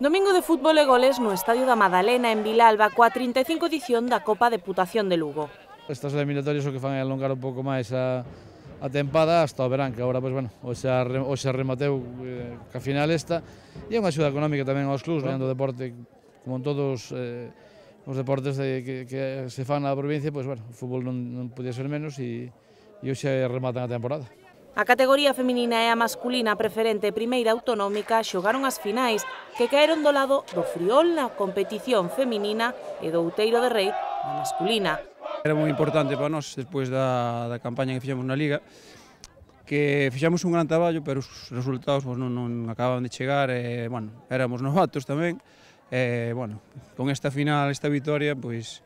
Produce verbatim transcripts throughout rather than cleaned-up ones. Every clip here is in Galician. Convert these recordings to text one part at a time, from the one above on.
Domingo de fútbol e goles no Estadio da Madalena en Vilalba coa trinta e cinco edición da Copa Deputación de Lugo. Estas eliminatorias o que fan é alongar un pouco máis a, a tempada hasta o verán, que agora, pois, bueno, hoxe xa remateu eh, que a final esta, e é unha axuda económica tamén aos clubs, no deporte, como en todos eh, os deportes de, que, que se fan na provincia, pois, bueno, o fútbol non, non podía ser menos e, e hoxe rematan a temporada. A categoría feminina e a masculina preferente primeira autonómica xogaron as finais que caeron do lado do Friol na competición feminina e do Outeiro de Rei na masculina. Era moi importante para nós, despois da, da campaña que fixemos na Liga, que fixamos un gran traballo, pero os resultados pues, non, non acababan de chegar, e, bueno, éramos novatos tamén, e, bueno, con esta final, esta victoria, pois,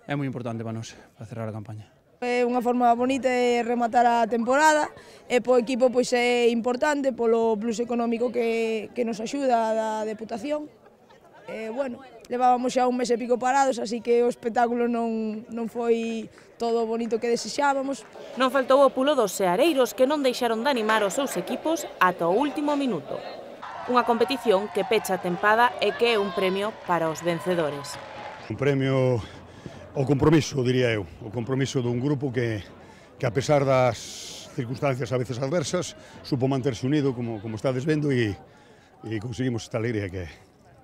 é moi importante para nós, para cerrar a campaña. É unha forma bonita de rematar a temporada e po equipo pois é importante polo plus económico que, que nos axuda da Deputación. E, bueno, levábamos xa un mes e pico parados, así que o espectáculo non, non foi todo o bonito que desexábamos. Non faltou o pulo dos seareiros que non deixaron de animar os seus equipos ata o último minuto. Unha competición que pecha a tempada e que é un premio para os vencedores. Un premio o compromiso, diría eu, o compromiso dun grupo que, que a pesar das circunstancias a veces adversas, supo manterse unido, como, como estades vendo, e, e conseguimos esta alegría que é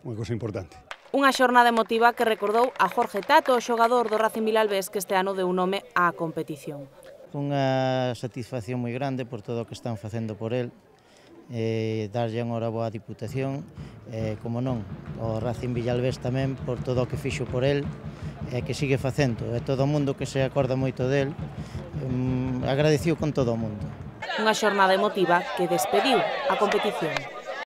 unha cosa importante. Unha xornada emotiva que recordou a Jorge Tato, o xogador do Racing Vilalbés que este ano deu nome á competición. Unha satisfacción moi grande por todo o que están facendo por el, eh, darlle unha hora boa Diputación, eh, como non, o Racing Vilalbés tamén por todo o que fixo por el, e que sigue facendo, e todo o mundo que se acorda moito del, um, agradeciu con todo o mundo. Unha xornada emotiva que despediu a competición.